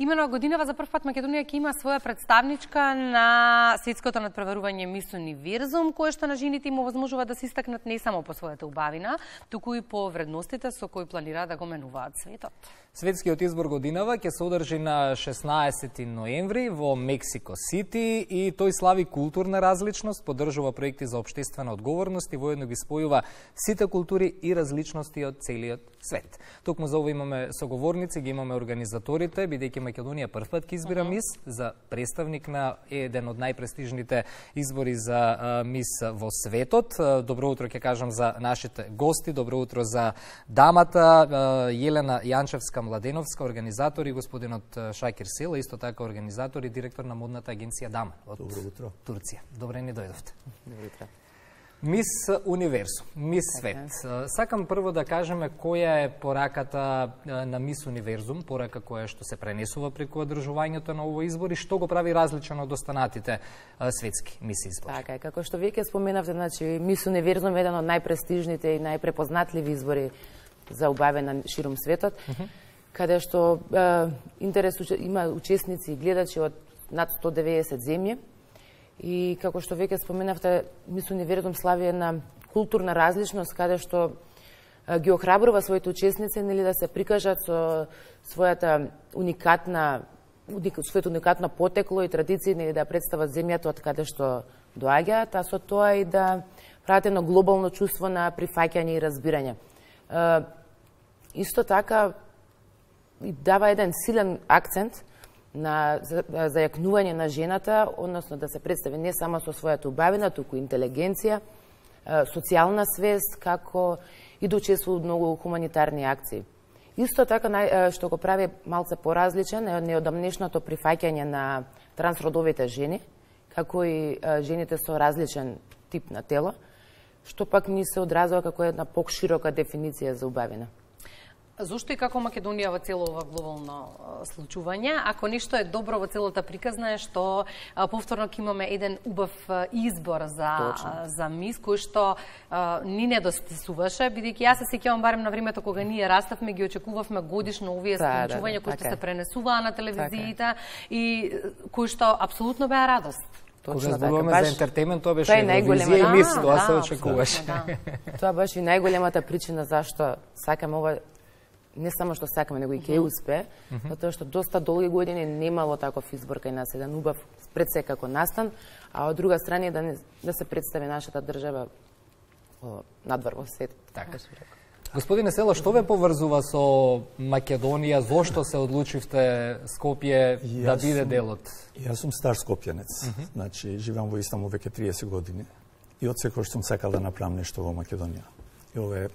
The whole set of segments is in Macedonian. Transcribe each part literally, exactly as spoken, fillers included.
Именно годинава за прв пат Македонија ќе има своја представничка на светското надпреварување Мис Универзум, кое што на жените им овозможува да се истакнат не само по својата убавина, туку и по вредностите со кои планираат да го менуваат светот. Светскиот избор годинава ќе се одржи на шеснаесети ноември во Мексико Сити и тој слави културна различност, поддржува проекти за општествена одговорност и воедно ги спојува сите култури и различности од целиот свет. Токму за ова имаме соговорници, ги имаме организаторите, бидејќи Македонија прв пат ќе избира мис за представник на еден од најпрестижните избори за мис во светот. Добро утро ќе кажам за нашите гости, добро утро за дамата Јелена Јанчевска-Младеновска, организатор, и господинот Шакир Села, исто така организатор и директор на модната агенција Дама од Добро утро. Турција. Добре ни дојдовте. Добро утро. Мис Универзум, Мис Свет. Сакам прво да кажеме која е пораката на Мис Универзум, порака која што се пренесува преку одржувањето на овој избор и што го прави различен од останатите светски мис избори. Така е, како што веќе споменавте, значи Мис Универзум е еден од најпрестижните и најпрепознатливи избори за убавена ширум светот, uh -huh. каде што е, интерес има учесници и гледачи од над сто деветдесет земји. И како што веќе споменавте, Мис Универзум слави една културна различност, каде што е, ги охрабрува своите учесници нели да се прикажат со својата уникатна своето уникатно потекло и традиции, нели да представат земјата од каде што доаѓаат, а со тоа и да прават едно глобално чувство на прифаќање и разбирање. Е, исто така и дава еден силен акцент на зајакнување на жената, односно да се представи не само со својата убавина, туку интелигенција, социјална свест, како и да учествува во многу хуманитарни акции. Исто така, што го прави малце поразличен, е неодамнешното прифаќање на трансродовите жени, како и жените со различен тип на тело, што пак ни се одразува како една покширока дефиниција за убавина. Зошто и како Македонија во цело ова глобално случување? Ако нешто е добро во целата приказна е што повторно ќе имаме еден убав избор за за мис кој што ни недостасуваше, бидејќи јас се сеќавам барем на времето кога ние раставме, ги очекувавме годишно овие да, случувања да, кои што така се пренесуваа на телевизиите и кои што апсолутно беа радост. Кога зборуваме за ентертејмент, тоа беше Евровизија и мис, тоа да, се очекуваше. Да. Тоа беше и најголемата причина зашто сакаме ова, не само што сакаме, него и ќе успее, затоа што доста долги години немало таков избор кај нас, еден убав пред се како настан, а од друга страна да, не, да се представи нашата држава надвор во свет. Така. Господине Села, што ве поврзува со Македонија? Зошто се одлучивте Скопје да биде дел од? Јас сум стар скопјанец, uh -huh. значи живеам во Истанбул веќе триесет години и од секој што сум сакал да направам нешто во Македонија. И ова е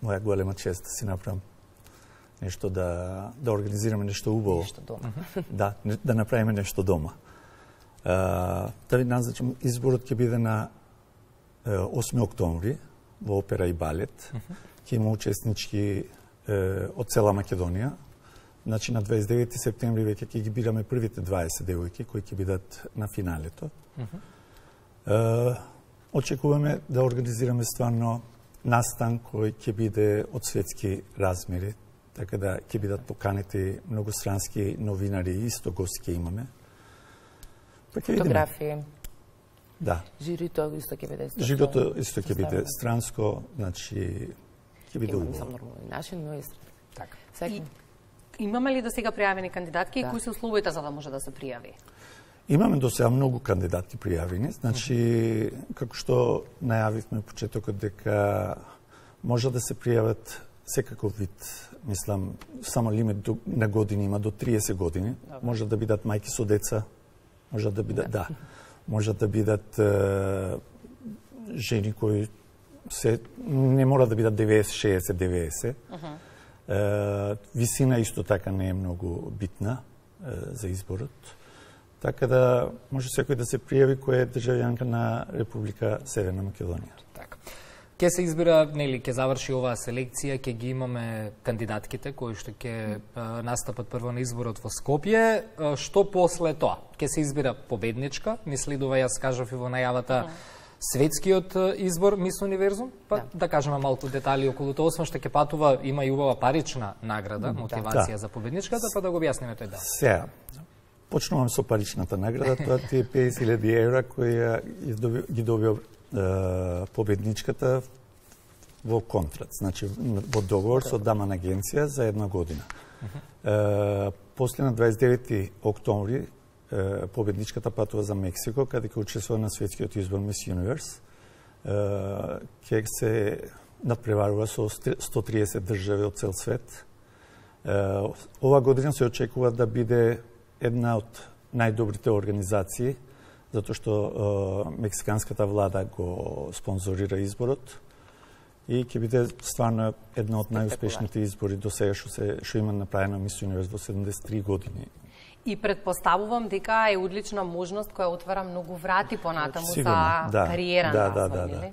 моја голема чест да си направам нешто, да да организираме нешто убаво. Нешто дома. Да, да направиме нешто дома. Uh, да ви назначам, изборот ќе биде на uh, осми октомври во опера и балет. Uh -huh. Ќе има учеснички uh, од цела Македонија. Значи на дваесет и девети септември веќе ќе ги бираме првите дваесет девојки кои ќе бидат на финалето. Uh -huh. uh, очекуваме да организираме стварно настан кој ќе биде од светски размери, така да ќе бидат поканети многострански новинари, исто гости ќе имаме. Па фотографии. Да. Жирито исто ќе биде. Жирито исто ќе биде странско, значи ќе биде убаво. Имаме нормално начин, но и така. И имаме ли до сега пријавени кандидатки да. и кои се условите за да може да се пријави? Имаме до сега многу кандидатки пријавени, значи како што најавивме почетокот дека може да се пријават секаков вид, мислам, само лимит до, на години има до триесет години, Добре. може да бидат мајки со деца, може да бидат, да, може да бидат е, жени кои се не мора да бидат деветдесет, шеесет, деветдесет. Uh -huh. е, висина исто така не е многу битна е, за изборот. Така да може секој да се пријави кој е државјанка на Република Северна Македонија. Така. Ке се избира, нели, ке заврши оваа селекција, ке ги имаме кандидатките кои што ќе настапат прво на изборот во Скопје. Што после тоа? Ке се избира победничка, ни следува, јас кажав и во најавата, светскиот избор Мис Универзум, па да, да кажеме малку детали околу тоа, освен што ќе патува, има и убава парична награда, мотивација да. за победничката, па да го објасниме тој дел. Сега, почнувам со паричната награда, тоа ти е песет илјади евра која ги добија е, победничката во контракт, значи во договор со Даман агенција за една година. Uh-huh. Е, после на дваесет и девети октомври е, победничката патува за Мексико, каде ќе учествува на светскиот избор Мис Юниверс. Ќе се надпреварува со сто триесет држави од цел свет. Е, ова година се очекува да биде една од најдобрите организации, затоа што е, мексиканската влада го спонзорира изборот и ќе биде стварно една од најуспешните избори до сега што се што има направено Мис Юниверс во седумдесет и три години. И предпоставувам дека е одлична можност која отвара многу врати понатаму за да, кариера да, на да, да, да.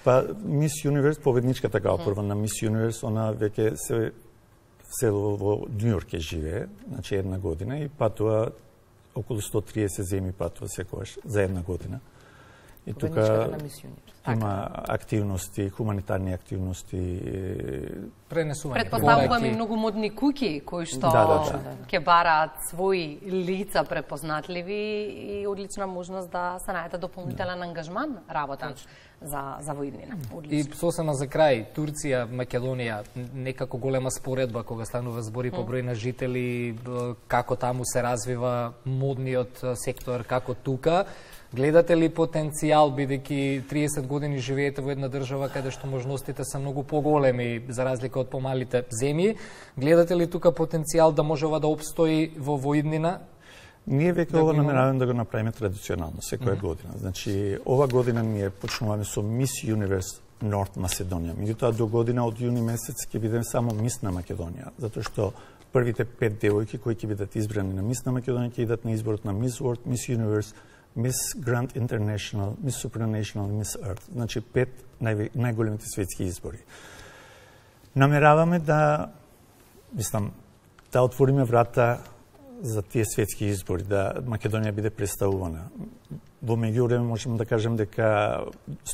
Па Мис Юниверс, победничката као прва на Мис Юниверс, она веќе се село во Њујорк ќе живее, значи една година и патува околу сто триесет земји патува секогаш за една година. И тука има активности, хуманитарни активности. Пренесување. Предпоставувам и многу модни куќи кои што да, да, да. ќе бараат своји лица препознатливи и одлична можност да се најде дополнителен да. ангажман работа за за воиднина. И сосема за крај, Турција, Македонија, некако голема споредба кога станува збори по број на жители, како таму се развива модниот сектор, како тука. Гледате ли потенцијал, бидејќи триесет години живеете во една држава каде што можностите се многу поголеми за разлика од помалите земји? Гледате ли тука потенцијал да може ова да опстои во воиднина? Ние веќе да ова намераваме да го направиме традиционално секоја mm-hmm. година. Значи, ова година ние почнуваме со Мис Юниверс Норт Македонија. Меѓутоа до година од јуни месец ќе бидеме само Мис на Македонија, затоа што првите пет девојки кои ќе бидат избрани на Мис на Македонија ќе идат на изборот на Мис World, Мис Юниверс, Мис Гранд Интернешнл, Мис Супранационал, Мис Ерт. Значи пет нај, најголемите светски избори. Намераваме да, мислам, да отвориме врата за тие светски избори, да Македонија биде представувана. Во меѓувреме можеме да кажем дека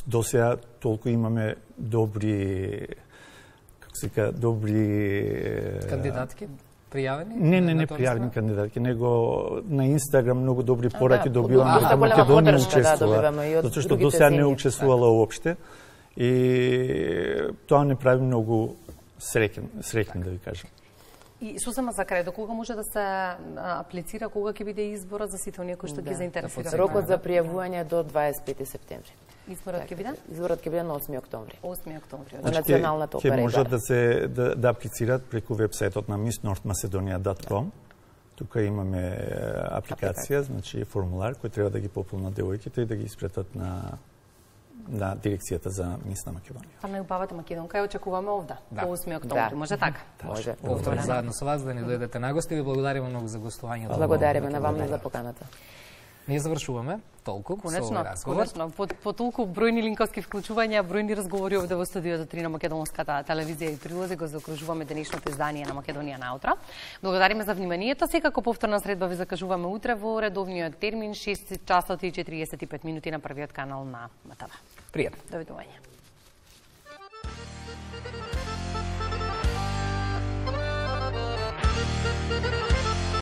досега толку имаме добри, како се ка, добри кандидатки пријавени? Не, не, не пријавени кандидатки, него на Инстаграм многу добри пораки да, добиваме дека Македонија учествува, да, затоа што досега не учествувала уопште и тоа не прави многу среќен, среќен да ви кажам. И сосема за крај, до кога може да се аплицира, кога ќе биде изборот за сите оние кои што да, ги заинтересира? Рокот за пријавување до дваесет и пети септември. Изборот ќе биде? Изборот ќе биде на осми октомври. осми октомври. Во националната опера. Ќе можат да се да, да аплицираат преку вебсајтот на мис норт македонија дот ком. Тука имаме апликација, значи формулар кој треба да ги пополнат девојките и да ги испратат на на дирекцијата за Мис на Македонија. Па најубавата македонка ја очекуваме овде, да. По осми октомври. Да. Може така? Да. Може. Повторно заедно со вас да ни дојдете на гости. Ви благодариме многу за гостувањето. Благодариме на вам за поканата. Ние завршуваме толку конечно, со овој разговор. Конечно, по, по толку бројни линковски вклучувања, бројни разговори овде во студиото три на Македонската телевизија и прилози го закружуваме денешното издание на Македонија наутро. Благодариме за вниманието. Секако повторна средба ви закажуваме утре во редовниот термин шест часот и четириесет и пет минути на првиот канал на МТВ. Пријатно. Довидување.